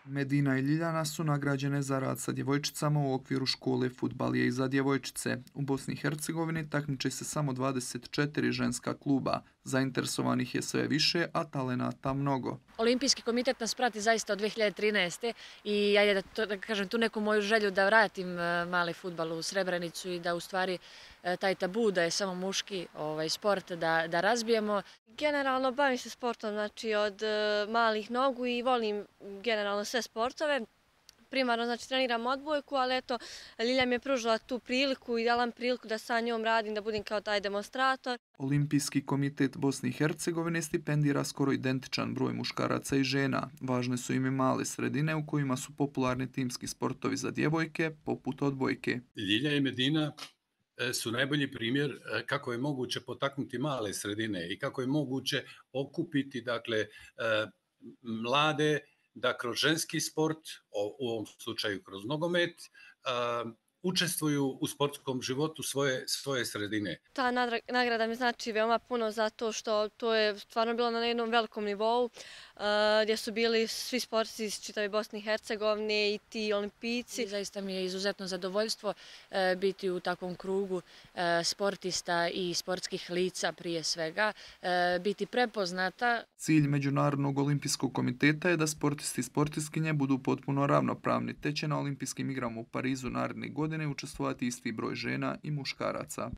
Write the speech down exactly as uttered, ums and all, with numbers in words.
Medina i Ljiljana su nagrađene za rad sa djevojčicama u okviru škole Fudbal je i za djevojčice. U Bosni i Hercegovini takmiče se samo dvadeset četiri ženska kluba. Zainteresovanih je sve više, a talenata mnogo. Olimpijski komitet nas prati zaista od dve hiljade trinaeste. i ajde da, to, da kažem tu neku moju želju da vratim e, mali fudbal u Srebrenicu i da u stvari e, taj tabu da je samo muški ovaj, sport da, da razbijemo. Generalno bavim se sportom, znači od e, malih nogu i volim generalno sve sportove. Primarno znači treniram odbojku, ali eto Ljilja mi je pružila tu priliku i dala mi priliku da sa njom radim, da budem kao taj demonstrator. Olimpijski komitet Bosne i Hercegovine stipendira skoro identičan broj muškaraca i žena. Važne su im i male sredine u kojima su popularni timski sportovi za djevojke, poput odbojke. Ljilja i Medina su najbolji primjer kako je moguće potaknuti male sredine i kako je moguće okupiti dakle mlade da kroz ženski sport, u ovom slučaju kroz nogomet, učestvuju u sportskom životu svoje, svoje sredine. Ta nagrada mi znači veoma puno zato što to je stvarno bilo na jednom velikom nivou gdje su bili svi sportisti iz čitave Bosne i Hercegovine i ti olimpijci. I zaista mi je izuzetno zadovoljstvo biti u takvom krugu sportista i sportskih lica prije svega, biti prepoznata. Cilj Međunarodnog olimpijskog komiteta je da sportisti i sportistkinje budu potpuno ravnopravni, te će na olimpijskim igrama u Parizu naredne godine učestvovati isti broj žena i muškaraca.